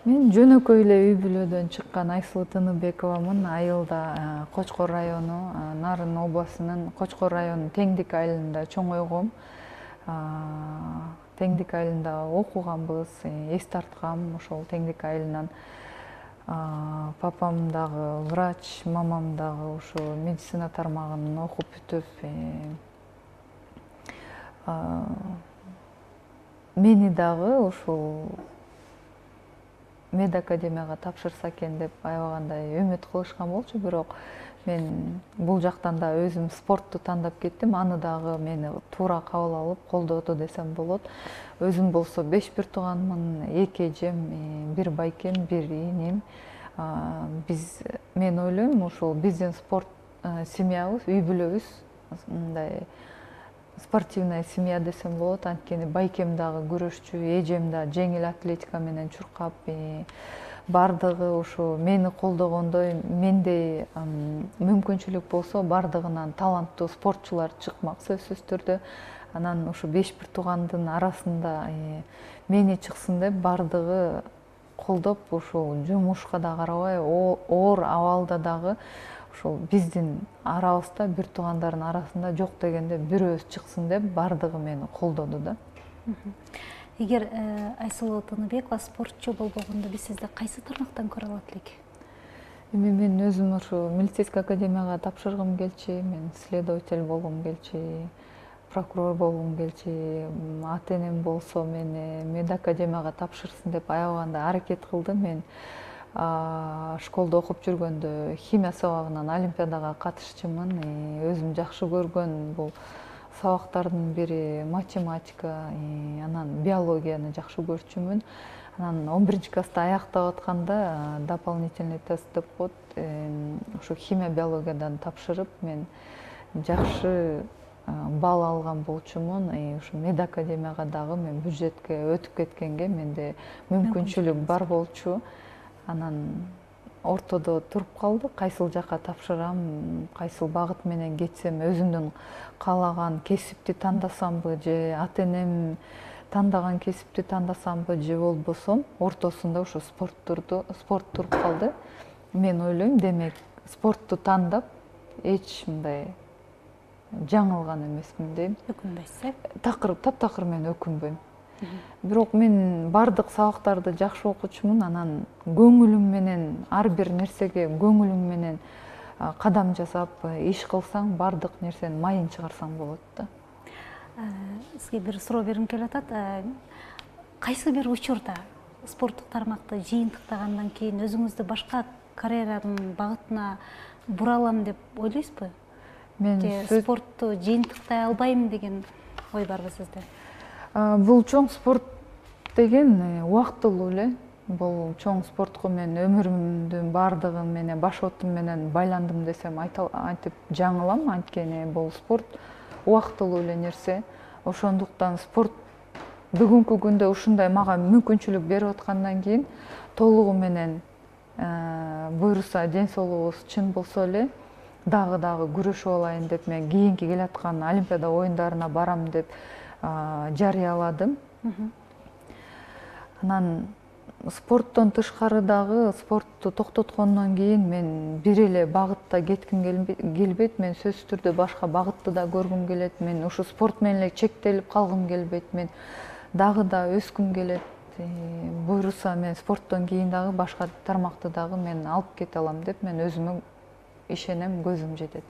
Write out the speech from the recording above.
Мен жөнөкөй эле үй бүлөдөн чыккан Айсылуу Тыныбековамын. Айылда Кочкор району, Нарын областынын Кочкор районунун Теңдик айылында чоңойгом. Теңдик айылында окуганбыз, эс тарткам ошол Теңдик айылынан. Папам дагы врач, мамам дагы ушу медицина тармагын окуп бүтүп, мени дагы ушул мед академияга тапшырса экен деп аябагандай үмүт кылышкан болчу, бирок мен бул жактан да өзүм спортту тандап кеттим. Аны дагы мени туура кабыл алып колдоду десем болот. Өзүм болсо 5 бир тууганмын, 2 эжем, 1 байкем, 1 ийним. Мен ойлойм, ушул биздин спорт семьябыз, үй бүлөбүз мындай спортивная семья десем болот. Анткени байкем дагы күрөшчү, эжем да жеңил атлетика менен чуркап, бардыгы ушу мени колдогондой, мендей мүмкүнчүлүк болсо бардыгынан таланттуу спортчулар чыкмак сөзсүз түрдө. Анан ушу 5 бир туугандын арасында мени чыксын деп бардыгы колдоп, ушул жумушка да карабай, оор абалда дагы ушул биздин арабызда бир туугандардын арасында жок дегенде бирөөбүз чыксын деп бардыгы мени колдоду да. Эгер Айсылуу Тыныбекова спортчу болбогондо биз сизди кайсы тармактан көрө алат элек? Мен өзүм ушу милицейский академияга тапшыргым келчү, мен следователь болгум келчү, прокурор болгум келчү. Ата-энем болсо мени мед академияга тапшырсын деп аябагандай аракет кылды. Мен школдо окуп жүргөндө химия сабагынан олимпиадага катышчумун. Өзүм жакшы көргөн бул сабактардын бири математика, анан биологияны жакшы көрчүмүн. Анан 11-класста аяктап атканда дополнительный тест деп коет. Ушу химия биологиядан тапшырып, мен жакшы балл алган болчумун. Ушу мед академияга дагы мен бюджетке өтүп кеткенге менде мүмкүнчүлүк бар болчу. Анан ортодо туруп калдык, кайсыл жакка тапшырам, кайсыл багыт менен кетсем, өзүмдүн каалаган кесипти тандасамбы же ата-энем тандаган кесипти тандасамбы же болбосо ортосунда ушу спорт туруп калды. Мен ойлойм, демек спортту тандап эч мындай жаңылган эмесмин дейм. Өкүнбөйсүз? Таптакыр мен өкүнбөйм. Бирок мен бардык сабактарды жакшы окучумун. Анан көңүлүм менен ар бир нерсеге көңүлүң менен кадам жасап иш кылсаң, бардык нерсенин майын чыгарсаң болот да. Сизге бир суроо бергим келип атат. Кайсы бир учурда спорттук тармакты жыйынтыктагандан кийин өзүңүздү башка карьеранын багытына бура алам деп ойлойсузбу? Мен спортту жыйынтыктай албайм деген ой барбы сизде? Бул чоң спорт деген убактылуу эле. Бул чоң спортко мен өмүрүмдүн бардыгын менен, баш отум менен байландым десем айтып жаңылам. Анткени бул спорт убактылуу эле нерсе. Ошондуктан спорт бүгүнкү күндө ушундай мага мүмкүнчүлүк берип аткандан кийин толугу менен буйруса, ден соолугубуз чын болсо эле дагы күрөшүп алайын деп мен кийинки келаткан Олимпиада оюндарына барам деп жарыяладым. Анан спорттон тышкары дагы, спортту токтоткондон кийин мен бир эле багытта кетким келбейт. Мен сөзсүз түрдө башка багытты да көргүм келет. Мен ушу спорт менен эле чектелип калгым келбейт. Мен дагы да өскүм келет. Буйруса мен спорттон кийин дагы башка тармакты дагы мен алып кете алам деп мен өзүмө ишенем, көзүм жетет.